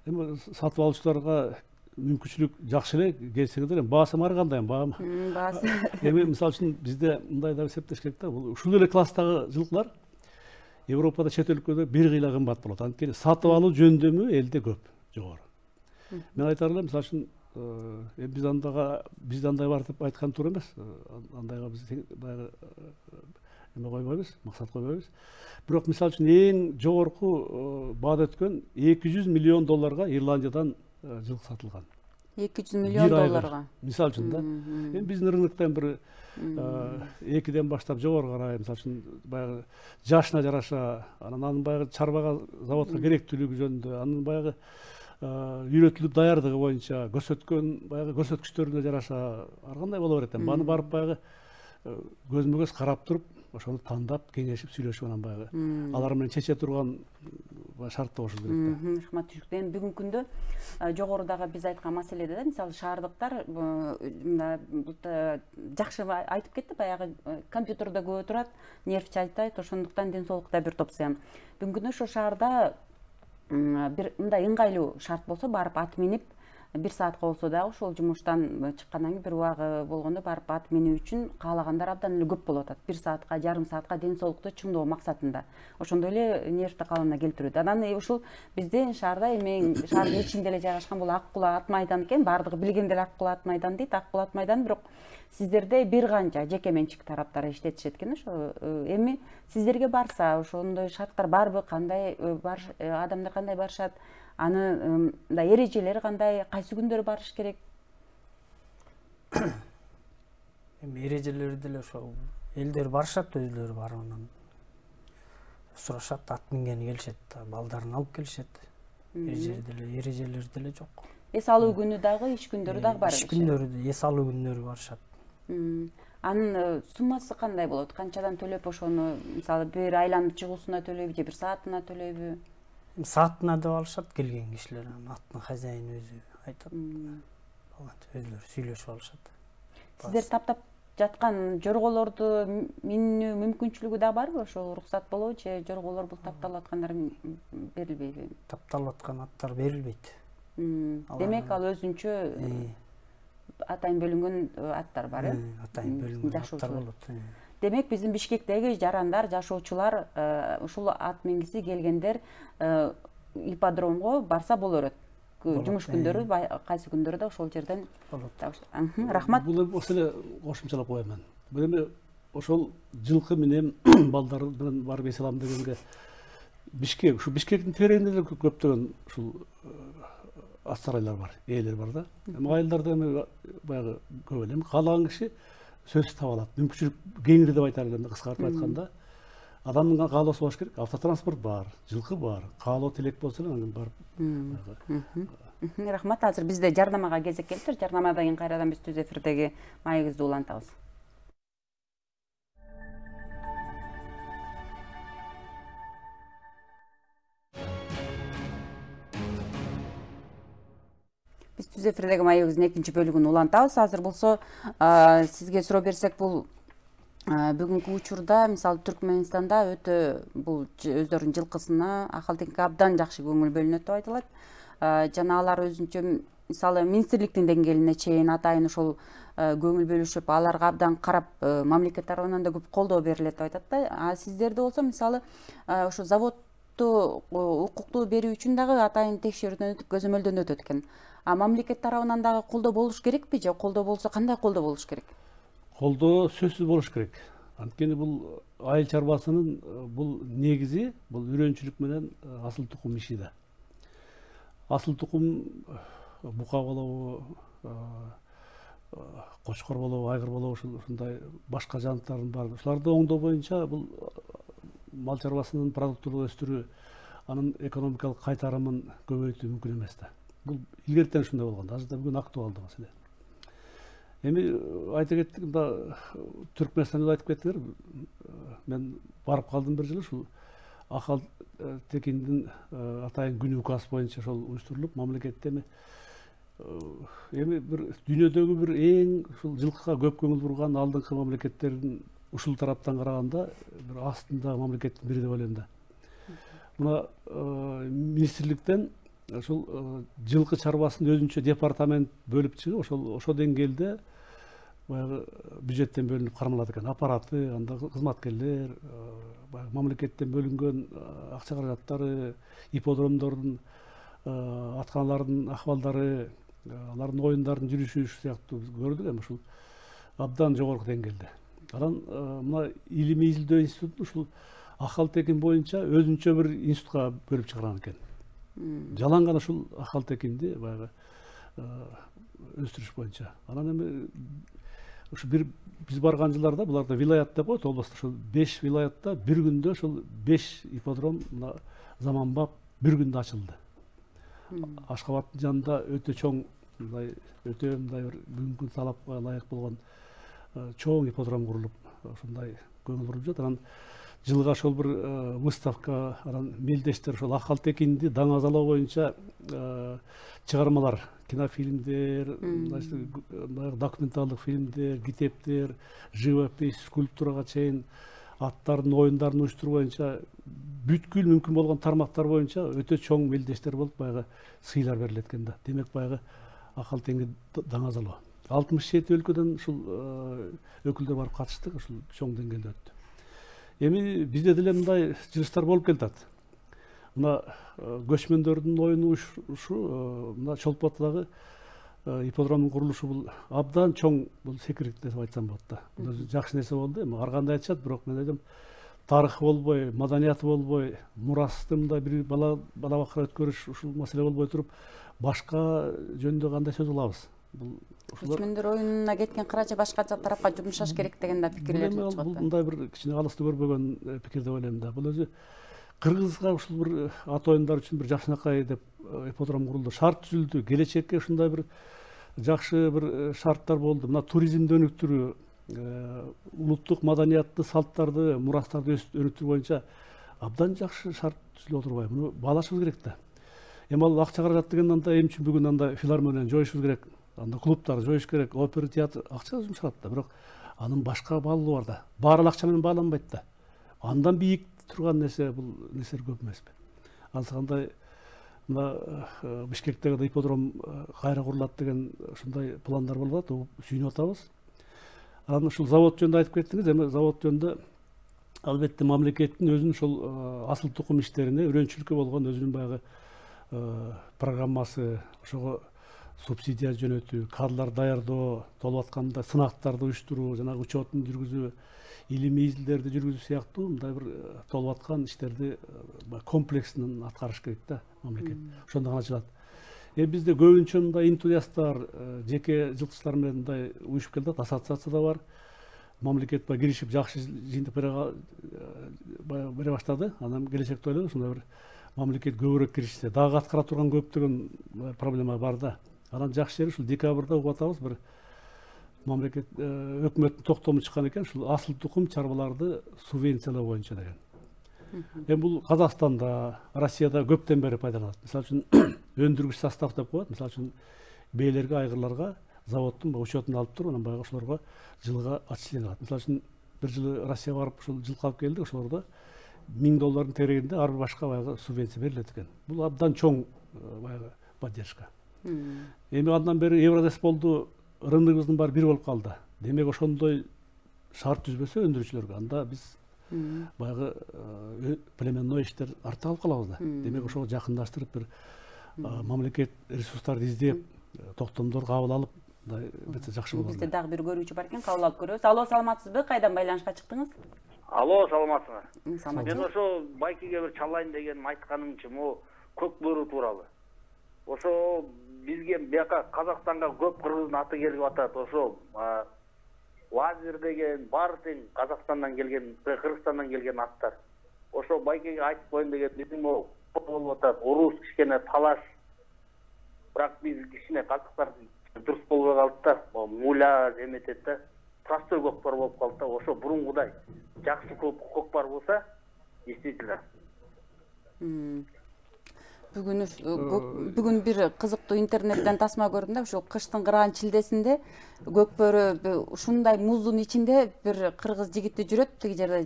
Speaker 2: Эми сатып алуучуларга мүмкүнчүлүк жакшы эле келсеңиздер, эми баасы ар кандай баамы?
Speaker 1: Баасы.
Speaker 2: Эми мисалы үчүн бизде мындай да эсептеш керек да, бул ушул эле класстагы жылкылар Европада чет өлкөдө бир кыйла кымбат болот. Анткени сатып алуу жөндөмү элде көп, жогору. Мен айтар элем, мисалы үчүн бизде андай бар деп айткан туура эмес. Андайга биз баягы эме койбойбуз, максат койбойбуз. Бирок мисалы үчүн эң жогорку баада өткөн $200 миллион Ирландиядан жылкы сатылган.
Speaker 1: 200 миллион долларга.
Speaker 2: Мисалы үчүн да. Эми биздин рыноктон бир 2ден баштап жогору карай, мисалы үчүн баягы жашына жараша, анан баягы чарбага, заводко керектүүлүгү жөнүндө, анын баягы үйрөтүлүп даярдыгы боюнча көрсөткөн баягы көрсөткүчтөрүнө жараша ар кандай боло берет. Аны барып баягы көзмө көз карап туруп, ошону тандап, кеңешип, сүйлөшүп анан баягы алар менен чече турган шартта болуш керек да.
Speaker 1: Рахмат түшүктө. Эми бүгүнкү күндө жогорудагы биз айткан маселеде да, мисалы шаардыктар жакшы айтып кетти, баягы компьютерде көп отурат, нерв чайтайт, ошондуктан ден соолукта бир топ зыян. Бүгүнкү күндө ошо шаарда бир мындай ыңгайлуу шарт болсо, барып ат минип, 1 саатка болсо дагы ошол жумуштан чыккандан кийин бир убагы болгондо барып ат минүү үчүн каалагандар абдан эле көп болуп атат. 1 саатка, жарым саатка ден соолукту чыңдоо максатында. Ошондой эле нервди калыбына келтирет. Анан ушул бизде шаарда эми шаардын ичинде эле жайгашкан бул Ак Кула ат майдан экен. Бардыгы билген деле Ак Кула ат майдан дейт. Ак Кула ат майдан, бирок сиздерде бир канча жеке менчик тараптар иштетишет экен. Ошо эми сиздерге барса, ошондой шарттар барбы, кандай адамдар кандай барышат? Аны эрежелери кандай, кайсы күндөрү барыш керек?
Speaker 3: Эми эрежелери деле ошо элдер барышат, өзүлөрү барып анан сурашат, ат мингени келишет, балдарын алып келишет. Эрежелери деле жок.
Speaker 1: Эс алуу күнү дагы, иш күндөрү дагы бар.
Speaker 3: Иш күндөрү, эс алуу күндөрү барышат.
Speaker 1: Анын суммасы кандай болот? Канчадан төлөп ошону, мисалы бир айланып чыгуусуна төлөйбү же бир саатына төлөйбү?
Speaker 3: Саатына деп алышат келген кишилер, аттын хозяйыны өзү айтат. Өзүлөрү сүйлөшүп алышат.
Speaker 1: Сиздер таптап жаткан жорголорду минүү мүмкүнчүлүгү да барбы? Ошол уруксат болобу же жорголор бул тапталып аткандар берилбейби?
Speaker 3: Тапталып аткан аттар берилбейт.
Speaker 1: Демек ал өзүнчө атайын бөлүнгөн аттар бар, э?
Speaker 3: Атайын бөлүнгөн аттар болот.
Speaker 1: Демек биздин Бишкектеги жарандар, жашоочулар ушул ат мингиси келгендер ипподромго барса боло берет. Жумуш күндөрү, кайсы күндөрү да ошол жерден болот. Рахмат.
Speaker 2: Бул эле кошумчалап коем мен. Бул эми ошол жылкы менен балдар менен барып эс алам дегенге Бишкек, ушу Бишкектин тегерегинде деле көптөгөн ушул ат сарайлар бар, ээлер бар да. Эми айылдарда эми баягы көп эле каалаган киши сөзсүз таба алат. Мүмкүнчүлүк кеңири деп айтар элем, кыскартып айтканда. Адамдын каалоосу болуш керек, автотранспорт бар, жылкы бар, каалоо тилек болсо эле анан барып.
Speaker 1: Рахмат. Азыр бизде жарнамага кезек келиптир. Жарнамадан кийин кайрадан биз түз эфирдеги маегибизди улантабыз. Биз түз эфирдеги маегибиздин экинчи бөлүгүн улантабыз. Азыр болсо сизге суроо берсек, бул бүгүнкү учурда мисалы Түркмөнстанда өтө бул өздөрүнүн жылкысына акыл-теңге абдан жакшы көңүл бөлүнөт деп айтылат. Жана алар өзүнчө мисалы министрликтин деңгээлине чейин атайын ошол көңүл бөлүшүп, аларга абдан карап, мамлекет тарабынан да көп колдоо берилет деп айтат да. А сиздерде болсо мисалы ошо заводду укуктуу берүү үчүн дагы атайын текшерүүдөн өтүп, көзөмөлдөн өтөт экен. А мамлекет тарабынан дагы колдоо болуш керекпи же колдоо болсо кандай колдоо болуш керек?
Speaker 2: Колдоо сөзсүз болуш керек. Анткени бул айыл чарбасынын бул негизи бул үйрөнчүлүк менен асыл тукум иши да. Асыл тукум бука болобу, кочкор болобу, айгыр болобу, ушундай башка жаныбарлардын баары. Ушуларды оңдоо боюнча бул мал чарбасынын продуктуулугун өстүрүү, анын экономикалык кайтарымын көбөйтүү мүмкүн эмес да. Бул илгертен ушундай болгон, азыр да бүгүн актуалдуу маселе. Эми айта кеттик, мында Түркмөнстанда айтып кеттиңер. Мен барып калдым бир жылы, ушул Акал Текиндин атайын күнү указ боюнча ошол уюштурулуп, мамлекетте эми бир дүйнөдөгү бир эң ушул жылкыга көп көңүл бурган алдыңкы мамлекеттердин ушул тараптан караганда бир астында мамлекеттин бири деп ойлойм да. Мына министрликтен ошол жылкы чарбасын өзүнчө департамент бөлүп чыгып, ошол деңгээлде баягы бюджеттен бөлүнүп кармалат экен. Аппараты, анда кызматкерлер, мамлекеттен бөлүнгөн акча каражаттары, ипподромдордун, атканалардын акыбалдары, алардын оюндардын жүрүшү сыяктуу биз көрдүк эми ушул абдан жогорку деңгээлде. Анан мына илимий изилдөө институтун ушул Акал Текин боюнча өзүнчө бир институтка бөлүп чыгарган экен. Жалаң гана ушул Акал Текинди баягы өстүрүш боюнча. Анан эми ушу биз барган жылдарда буларда вилаят деп коет, областта ошол 5 вилаятта бир күндө ошол 5 ипподром мына заманбап бир күндө ачылды. Ашкабадтын жанында өтө чоң, өтө мындай бир бүгүнкү талапка ылайык болгон чоң ипподром курулуп, ушундай көңүл буруп жатат. Анан жылга ошол бир выставка, анан мелдештер ошол Акал Текинди даңазалоо боюнча чыгармалар, кинофильмдер, документалдык фильмдер, китептер, живопись, скульптурага чейин аттардын оюндарын уюштуруу боюнча бүткүл мүмкүн болгон тармактар боюнча өтө чоң мелдештер болуп баягы сыйлар берилет экен да. Демек баягы Акал Текинди даңазалоо. 67 өлкөдөн ушул өкүлдөр барып катыштык, ушул чоң деңгээлде өттү. Эми бизде деле мындай жылыштар болуп келатат. Мына көчмөндөрдүн оюну ушу мына Чолпоттогу ипподромдун курулушу бул абдан чоң, бул секирик деп айтсам болот да. Бул жакшы нерсе болду. Эми ар кандай айтышат, бирок мен айтам, тарыхы болбой, маданияты болбой, мурасты мындай бир бала бакыра өткөрүш ушул маселе болбой туруп, башка жөндө кандай сөз кылабыз? Бул
Speaker 1: көчмөндөр оюнуна кеткен каражы башка тарапка жумшаш керек деген да пикирлер чыгат.
Speaker 2: Бул мындай бир кичине алысты көрбөгөн пикир деп ойлойм да. Бул өзү Кыргызга ушул бир ат оюндар үчүн бир жакшынакай деп ипподром курулду. Шарт түзүлдү. Келечекке ушундай бир жакшы бир шарттар болду. Мына туризмди өнүктүрүү, улуттук маданиятты, салттарды, мурастарды өнүктүрүү боюнча абдан жакшы шарт түзүлүп отурбайбы? Муну баалашыбыз керек да. Эми ал акча каражат деген анда эмне үчүн бүгүн анда филармонияны жоюшубуз керек, анда клубтарды жоюш керек, опера театр акча жумшалат да, бирок анын башка баалуулу бар да. Баары акча менен бааланбайт да. Андан бийик турган нерсе бул нерселер көп эмеспи? Андай мына Бишкектеги да ипподром кайра курулат деген ушундай пландар болуп атат, сүйүнүп атабыз. Анан ушул завод жөнүндө айтып кеттиңиз. Эми завод жөнүндө албетте мамлекеттин өзүнүн ушул асыл тукум иштерине үйрөнчүлүккө болгон өзүнүн баягы программасы, ошого субсидия жөнөтүү, кадрлар даярдоо, толуп атканда сынактарды уюштуруу, жанагы учетун жүргүзүү, илимий изилдерди жүргүзүү сыяктуу мындай бир толуп аткан иштерди комплекснен аткарыш керек да мамлекет. Ошондо гана ачылат. Бизде көбүнчө мындай энтузиасттар, жеке жылкычылар менен мындай уюшуп келатат, ассоциация да бар. Мамлекет киришип жакшы жыйынтык бере баштады. Анан келечекте ойлойм ушундай бир мамлекет көбүрөөк киришсе, дагы аткара турган көптөгөн проблема бар да. Анан жакшы жери ушул декабрда угуп атабыз, бир мамлекет өкмөттүн токтому чыккан экен, ушул асыл тукум чарбаларды субвенциялоо боюнча деген. Эми бул Казакстанда, Россияда көптөн бери пайдаланат. Мисалы үчүн өндүргүч состав деп коет. Мисалы үчүн бээлерге, айгырларга заводдун учетун алып туруп, анан баягы ошолорго жылга отчисление кылат. Мисалы үчүн бир жылы Россияга барып ушул жылкы алып келдик, ошолордо $1000 терегинде ар бир башка баягы субвенция берилет экен. Бул абдан чоң баягы поддержка. Эми андан бери Евродес болду, рыногубуздун баары бир болуп калды. Демек ошондой шарт түзбөсө өндүрүүчүлөргө, анда биз баягы племенной иштер артта калып калабыз да. Демек ошого жакындаштырып бир мамлекет ресурстарды издеп, токтомдор кабыл алып, мындай жакшы болот.
Speaker 1: Бизде дагы бир көрүүчү бар экен, кабыл алып көрөбүз. Алло, саламатсызбы? Кайдан байланышка чыктыңыз?
Speaker 4: Алло, саламатсыңар.
Speaker 1: Саламатсыз.
Speaker 4: Мен ошо байкеге бир чалайын дегеним айтканымчы, могу көк бөрү тууралуу. Ошо бизге бияка Казакстанга көп кыргыздын аты келип атат. Ошо лазер деген баары тең Казакстандан келген, Кыргызстандан келген аттар. Ошо байкеге айтып коеюн деген биздин могу болуп атат. Урус кичине талаш. Бирок биз кичине калдыктар дурус болбой калды да. Муля эметет да. Простой көкпар болуп калды да. Ошо бурунгудай жакшы көкпар болсо, действительно.
Speaker 1: Бүгүн бир кызыктуу интернеттен тасма көрдүм да, ушул кыштын кырган чилдесинде көкбөрү ушундай муздун ичинде бир кыргыз жигити жүрөт, тиги жерде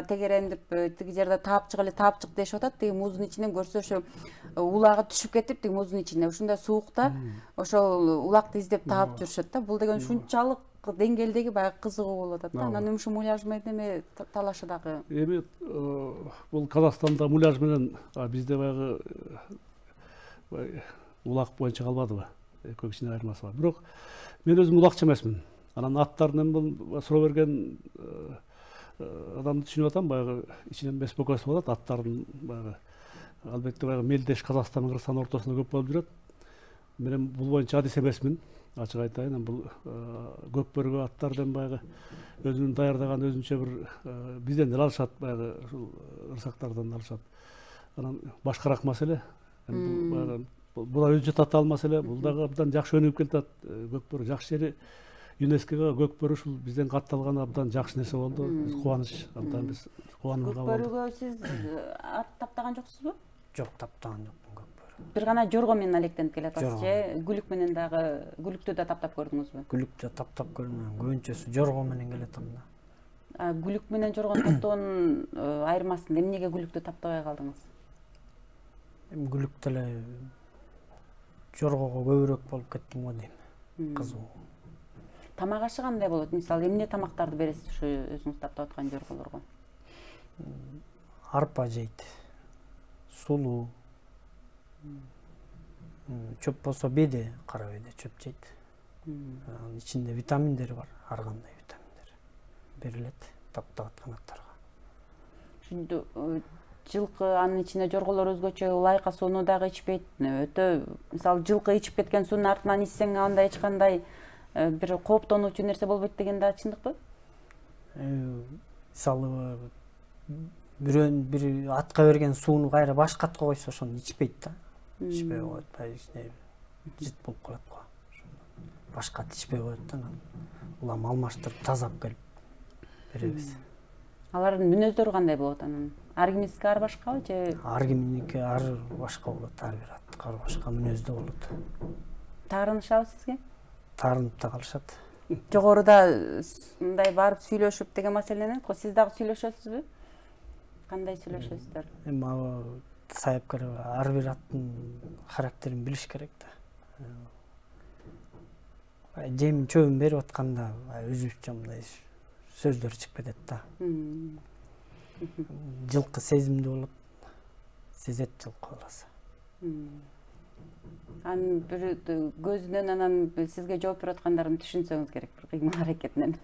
Speaker 1: тегерендип, тиги жерде таапчык эле таапчык дешип атат, тиги муздун ичинен көрсө ошо улагы түшүп кетип, тиги муздун ичине ушундай суукта ошол улакты издеп таап жүрүшөт да. Бул деген ушунчалык деңгээлдеги баягы кызыгуу болуп атат да. Анан ушул муляж менен талашы дагы.
Speaker 2: Эми бул Казакстанда муляж менен бизде баягы улак боюнча калбадыбы? Экөө кичине айырмасы бар. Бирок мен өзүм улакчы эмесмин. Анан аттарын бул суроо берген адамды түшүнүп атам, баягы ичинен беспокойство болот, аттардын баягы албетте баягы мелдеш Казакстан менен Кыргызстандын ортосунда көп болуп жүрөт. Мен бул боюнча адис эмесмин. Ачык айтайын, бул көкбөрүгө аттардан баягы өзүнүн даярдаган өзүнчө бир бизден эле алышат, баягы ушул ырсактардан алышат. Анан башкараак маселе. Бул баягы бул өзүнчө татаал маселе. Бул дагы абдан жакшы өнүгүп келатат. Көкбөрү жакшы жери ЮНЕСКОга көкбөрү ушул бизден катталганы абдан жакшы нерсе болду. Биз кубаныч, абдан биз кубанып калдык.
Speaker 1: Көкбөрүгө сиз ат таптаган жоксузбу?
Speaker 3: Жок, таптаган жокмун көкбөрү.
Speaker 1: Бир гана жорго менен алектенип келатасыз же? Күлүк менен дагы, күлүктү да таптап көрдүңүзбү?
Speaker 3: Күлүктү таптап көрдүм. Көбүнчөсү жорго менен келатам да.
Speaker 1: Күлүк менен жоргону таптоонун айырмасы эмнеге күлүктү таптабай калдыңыз?
Speaker 3: Эми күлүк эле жоргого көбүрөөк болуп кеттим го дейм. Кызуу.
Speaker 1: Тамак ашы кандай болот? Мисалы, эмне тамактарды бересиз ушу өзүңүз таптап аткан жорголорго?
Speaker 3: Арпа жейт. Сулуу. Чөп болсо беде, кара беде чөп жейт. Анын ичинде витаминдери бар, ар кандай витаминдер берилет таптап аткан аттарга.
Speaker 1: Жылкы анын ичинде жорголор өзгөчө ылайыка сууну дагы ичпейт. Өтө, мисалы, жылкы ичип кеткен суунун артынан ичсең андай эч кандай бир кооптонуучу нерсе болбойт деген да чындыкпы?
Speaker 3: Мисалы, бир атка берген сууну кайра башка атка койсо ошону ичпейт да. Ичпей коет, жыт болуп калат го. Башка ат ичпей коет да. Улам алмаштырып тазап келип беребиз.
Speaker 1: Алардын мүнөздөрү кандай болот анан? Ар кимиздики ар башкабы же?
Speaker 3: Ар кимдики ар башка болот, ар бир ат ар башка мүнөздө болот.
Speaker 1: Таарынышабы сизге?
Speaker 3: Таарынып да калышат.
Speaker 1: Жогоруда мындай барып сүйлөшүп деген маселени го, сиз дагы сүйлөшөсүзбү? Кандай сүйлөшөсүздөр?
Speaker 3: Эми саяпкер ар бир аттын характерин билиш керек да. Жем чөбүн берип атканда өзүбүзчө мындай сөздөр чыгып кетет да. Жылкы сезимдүү болот. Сезет жылкы баласы.
Speaker 1: Анын бир көзүнөн анан сизге жооп берип аткандарын түшүнсөңүз керек, бир кыймыл аракетинен.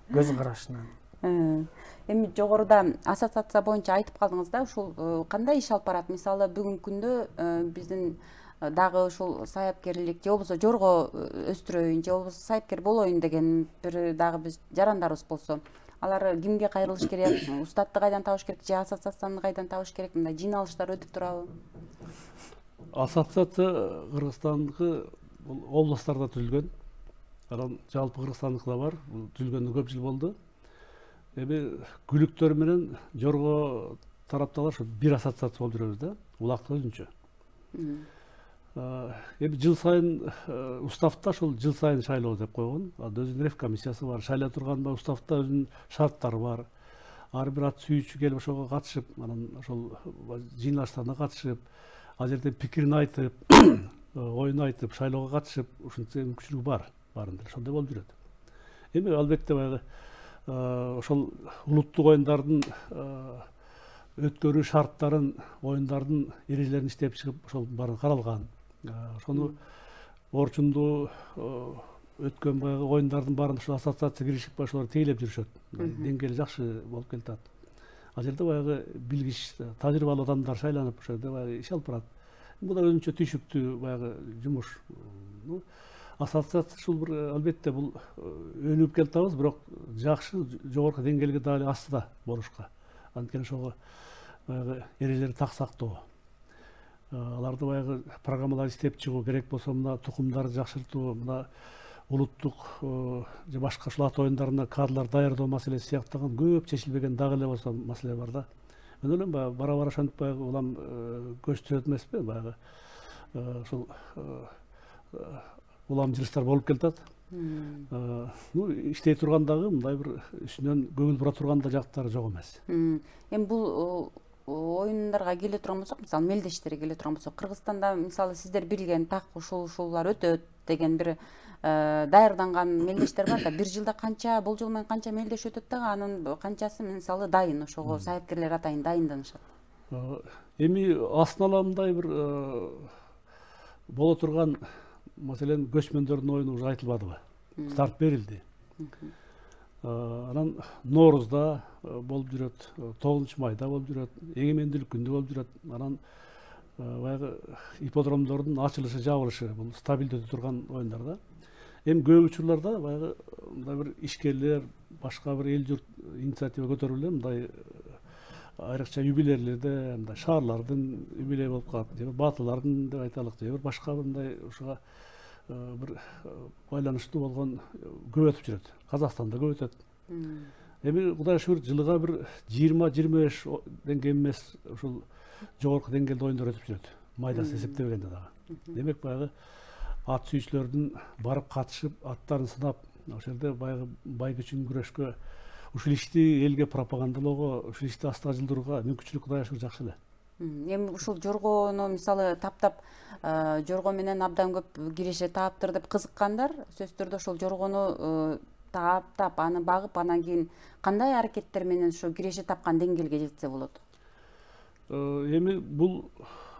Speaker 3: Көз карашынан.
Speaker 1: Эми жогоруда ассоциация боюнча айтып калдыңыз да, ушул кандай иш алып барат? Мисалы, бүгүнкү күндө биздин дагы ушул саяпкерлик же болбосо жорго өстүрөйүн же болбосо саяпкер болоюн деген бир дагы биз жарандарыбыз болсо, алар кимге кайрылыш керек? Устатты кайдан табыш керек же ассоциацияны кайдан табыш керек? Мындай жыйналыштар өтүп турабы?
Speaker 2: Ассоциация Кыргызстандыкы областтарда түзүлгөн. Анан жалпы Кыргызстандыкы да бар. Бул түзүлгөнүнө көп жыл болду. Эми күлүктөр менен жорго тараптагылар бир ассоциация болуп жүрөбүз да. Улакты өзүнчө. Эми жыл сайын уставда ошол жыл сайын шайлоо деп койгон. Өзүнүн ревкомиссиясы бар. Шайлай турган уставда өзүнүн шарттары бар. Ар бир ат сүйүүчү келип ошого катышып, анан ошол жыйналыштарына катышып, ал жерде пикирин айтып, оюн айтып, шайлоого катышып, ушунча мүмкүнчүлүгү бар. Баарында ошондой болуп жүрөт. Эми албетте баягы ошол улуттук оюндардын өткөрүү шарттарын, оюндардын эрежелерин иштеп чыгып, ошол баары каралган. Ошону орчунду өткөн баягы оюндардын баарын ошол ассоциация киришип, ошолор тейлеп жүрүшөт. Деңгээли жакшы болуп келатат. Ал жерде баягы билгич, тажрыйбалуу адамдар шайланып, ошол жерде баягы иш алып барат. Бул да өзүнчө түйшүктүү баягы жумуш. Ассоциация ушул бир албетте бул өнүгүп келатабыз, бирок жакшы жогорку деңгээлге дагы астыда болушка. Анткени ошого баягы эрежелерди так сактоо. Аларды баягы программалар иштеп чыгуу керек болсо, мына тукумдарды жакшыртуу, мына улуттук же башка ушул ат оюндарына кадрлар даярдоо маселеси сыяктаган көп чечилбеген дагы эле болсо маселе бар да. Мен ойлойм бара ошентип баягы улам көчтүрөт эмеспи, баягы ушул улам жылыштар болуп келатат. Иштей тургандагы мындай бир үстүнөн көңүл бура турган да жактары жок эмес.
Speaker 1: Эми бул оюндарга келе турган болсок, мисалы мелдештерге келе турган болсок, Кыргызстанда мисалы сиздер билген так ушулар өтөт деген бир даярданган мелдештер бар да. Бир жылда канча, болжол менен канча мелдеш өтөт дагы, анын канчасы мисалы дайын, ошого саяпкерлер атайын дайынданышат.
Speaker 2: Эми астын ала мындай бир боло турган, маселен, көчмөндөрдүн оюну уже айтылбадыбы? Старт берилди. Анан Ноорузда болуп жүрөт, 9-майда болуп жүрөт, эгемендүүлүк күндө болуп жүрөт. Анан баягы ипподромдордун ачылышы, жабылышы бул стабилдүү өтө турган оюндар да. Эми көп учурларда баягы мындай бир ишкерлер, башка бир эл журт инициатива көтөрүп эле мындай айрыкча юбилейлерде, мындай шаарлардын юбилейи болуп калат, же баатылардын деп айталык, же башка мындай ушуга бир байланыштуу болгон көп өтүп жүрөт. Казакстанда көп өтөт. Эми Кудай шүгүр жылыга бир 20-25 ден эмес ушул жогорку деңгээлде оюндар өтүп жүрөт. Майдасы эсептебегенде дагы. Демек баягы ат сүйүүчүлөрдүн барып катышып, аттарын сынап, ошол жерде баягы бай күчүн күрөшкө, ушул ишти элге пропагандалоого, ушул ишти астыга жылдырууга мүмкүнчүлүк Кудай шүгүр жакшы эле.
Speaker 1: Эми ушул жоргону мисалы таптап, жорго менен абдан көп киреше тааптыр деп кызыккандар, сөзсүз түрдө ошол жоргону таптап, аны багып, анан кийин кандай аракеттер менен ошо киреше тапкан деңгээлге жетсе болот?
Speaker 2: Эми бул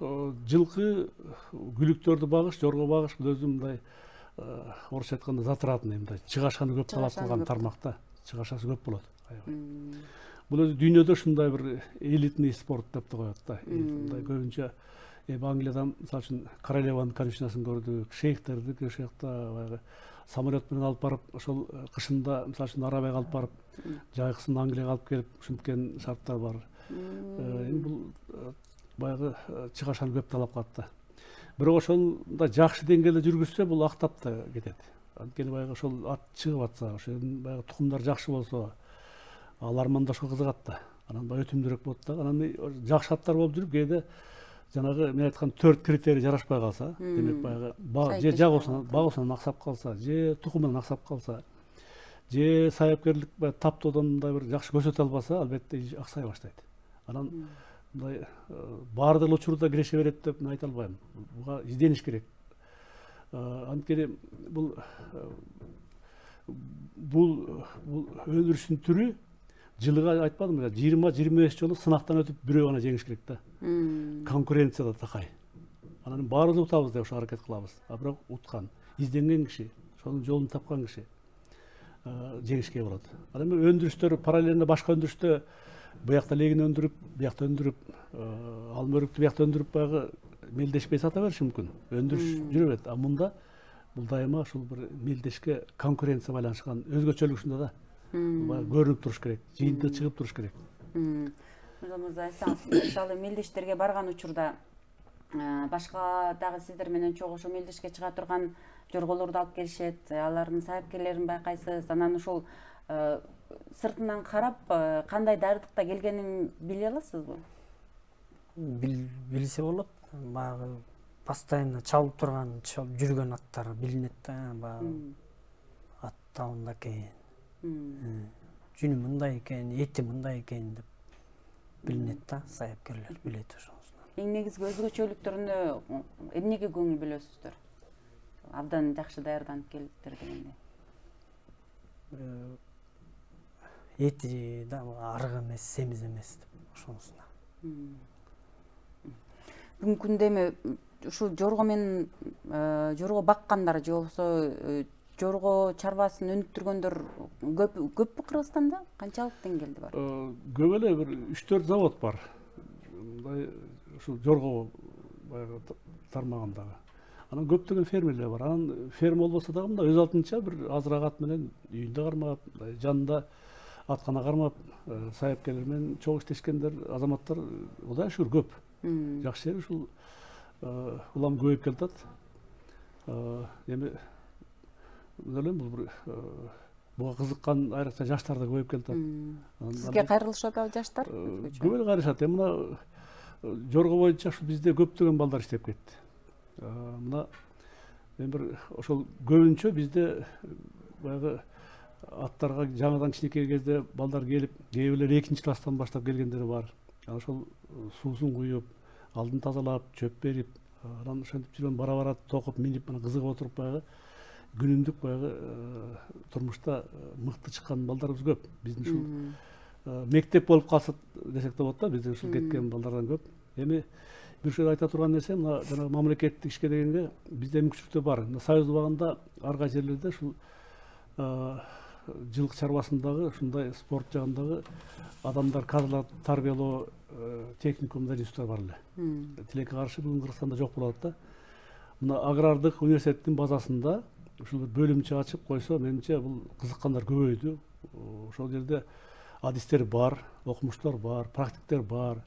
Speaker 2: жылкы күлүктөрдү багыш, жорго багыш бул өзү мындай орусча айтканда затратный, мындай чыгашаны көп талап кылган тармакта, чыгашасы көп болот. Бул өзү дүйнөдө ушундай бир элитный спорт деп коет да. Мындай көбүнчө Англияда мисалы үчүн королеванын конюшнясын көрдүк, шейхтерди ошол жакта баягы самолет менен алып барып, ошол кышында мисалы үчүн Арабияга алып барып, жайкысын Англияга алып келип ушинткен шарттар бар. Эми бул баягы чыгашаны көп талап кылат да. Бирок ошондой жакшы деңгээлде жүргүзсө, бул актап да кетет. Анткени баягы ошол ат чыгып атса, ошол баягы тукумдар жакшы болсо, ал армандашка кызыгат да. Анан баягы өтүмдүүрөөк болот да. Анан жакшы аттар болуп жүрүп, кээде жанагы мен айткан 4 критерий жарашпай калса, демек баягы же багуусунан аксап калса, же тукумунан аксап калса, же саяпкерлик таптоодон мындай бир жакшы көрсөтө албаса, албетте аксай баштайт. Анан мындай баардык учурда киреше берет деп мен айта албайм. Буга издениш керек. Анткени бул өндүрүштүн түрү жылыга айтпадым, 20-25 жолу сынактан өтүп бирөө гана жеңиш керек да. Конкуренция да такай. Анан баарыбыз утабыз деп ошо аракет кылабыз. Бирок уткан, изденген киши, ошонун жолун тапкан киши жеңишке болот. Анан өндүрүштөр параллельно башка өндүрүштө буякта легин өндүрүп, буякта өндүрүп, алма өрүктү буякта өндүрүп баягы мелдешпей сата бериши мүмкүн. Өндүрүш жүрө берет. А мында бул дайыма ушул бир мелдешке конкуренция байланышкан өзгөчөлүк ушунда да. Көрүнүп туруш керек, жыйынтыгы чыгып туруш керек.
Speaker 1: Мырза айтсаңыз, мисалы мелдештерге барган учурда башка дагы сиздер менен чогуу ошо мелдешке чыга турган жорголорду алып келишет, алардын саяпкерлерин байкайсыз, анан ошол сыртынан карап кандай даярдыкта келгенин биле аласызбы?
Speaker 3: Билсе болот. Баягы постоянно чалып турган, чалып жүргөн аттар билинет да. Баягы атта мындай экен, жүнү мындай экен, эти мындай экен деп билинет да, саяпкерлер билет ошонусун.
Speaker 1: Эң негизги өзгөчөлүктөрүнө эмнеге көңүл бөлөсүздөр? Абдан жакшы даярданып келиптир дегенде.
Speaker 3: Эти да арык эмес, семиз эмес деп ошонусуна.
Speaker 1: Бүгүнкү күндө эми ушул жорго менен жорго баккандар же болбосо жорго чарбасын өнүктүргөндөр көппү Кыргызстанда? Канчалык деңгээлде бар?
Speaker 2: Көп эле, бир 3-4 завод бар. Мындай ушул жорго баягы тармагындагы. Анан көптөгөн фермерлер бар. Анан ферма болбосо дагы мындай өз алдынча бир азыраак ат менен үйүндө кармап, жанында аткана кармап, саяпкерлер менен чогуу иштешкендер, азаматтар Кудайга шүгүр көп. Жакшы жери ушул улам көбөйүп келатат. Эми ойлойм бул бир буга кызыккан айрыкча жаштар да көбөйүп келатат.
Speaker 1: Сизге кайрылышат жаштар?
Speaker 2: Көп эле кайрылышат. Эми мына жорго боюнча ушу бизде көптөгөн балдар иштеп кетти. Мына мен бир ошол көбүнчө бизде баягы аттарга жаңадан кичинекей кезде балдар келип, кээ бирлер 2-класстан баштап келгендери бар. Ошол суусун куюп, алдын тазалап, чөп берип, анан ошентип жүргөн бара-бара токуп, минип, мына кызыгып отуруп баягы күнүмдүк баягы турмушта мыкты чыккан балдарыбыз көп. Биздин ушул мектеп болуп калса десек да болот да, биздин ушул кеткен балдардан көп. Эми бир жер айта турган нерсе, мына жана мамлекеттик ишке дегенге бизде мүмкүнчүлүктөр бар. Мына Союз убагында ар кайсы жерлерде ушул жылкы чарбасындагы ушундай спорт жагындагы адамдар, кадрлар тарбиялоо техникумдар, институттар бар эле. Тилекке каршы бүгүн Кыргызстанда жок болуп атат да. Мына агрардык университеттин базасында ушул бир бөлүмчө ачып койсо, менимче бул кызыккандар көбөйдү. Ошол жерде адистер бар, окумуштар бар, практиктер бар.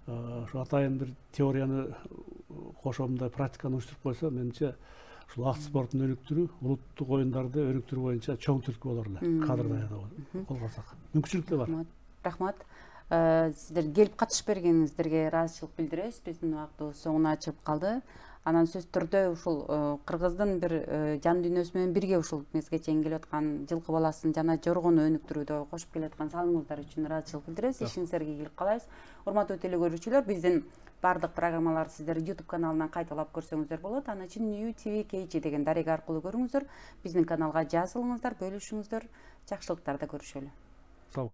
Speaker 2: Ошо атайын бир теорияны кошо мындай практиканы уюштуруп койсо, менимче ушул ат спортун өнүктүрүү, улуттук оюндарды өнүктүрүү боюнча чоң түрткү болор эле. Кадр даярдоо колго алсак. Мүмкүнчүлүктөр бар.
Speaker 1: Рахмат. Сиздер келип катышып бергениңиздерге ыраазычылык билдиребиз. Биздин убактыбыз соңуна чыгып калды. Анан сөзсүз түрдө ушул Кыргыздын бир жан дүйнөсү менен бирге ушул мезге чейин келип аткан жылкы баласын жана жоргону өнүктүрүүдө кошуп келаткан салымыңыздар үчүн ыраазычылык билдиребиз. Ишиңиздерге ийгилик каалайбыз. Урматтуу телекөрүүчүлөр, биздин бардык программаларды сиздер YouTube каналынан кайталап көрсөңүздөр болот. Аны үчүн New TV KG деген дарега аркылуу көрүңүздөр. Биздин каналга жазылыңыздар, бөлүшүңүздөр. Жакшылыктарда көрүшөлү.
Speaker 2: Сау.